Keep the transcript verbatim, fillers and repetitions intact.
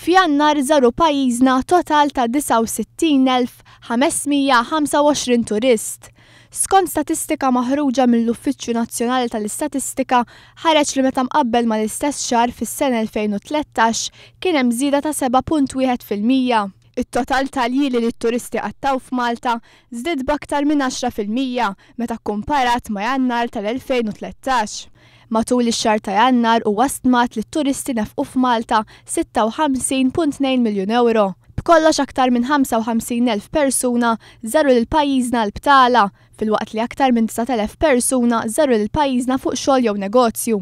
F'Jannar żaru pajjiżna total ta' disgħa u sittin elf ħames mija ħamsa u għoxrin turist. Skont statistika maħruġa mill-Uffiċċju Nazzjonali tal-Istatistika, ħareġ li meta mqabbel mal-istess xahar fis-sena elfejn u tlettax kien hemm żieda ta' seba' punt wieħed fil-mija. It-total tal-ljieli li t-turisti qattgħu f'Malta żdied b'aktar minn għaxra fil-mija meta kkumparat ma' Jannar tal-elfejn u tlettax. Matul ix-xahar ta' Jannar huwa stmat li t-turisti nefqu f'Malta sitta u ħamsin punt tnejn miljun euro. B'kollox aktar minn ħamsa u ħamsin elf persuna żaru lil pajjiżna l-btala, filwaqt li aktar minn disat elef persuna żaru lil pajjiżna fuq xogħol jew negozju.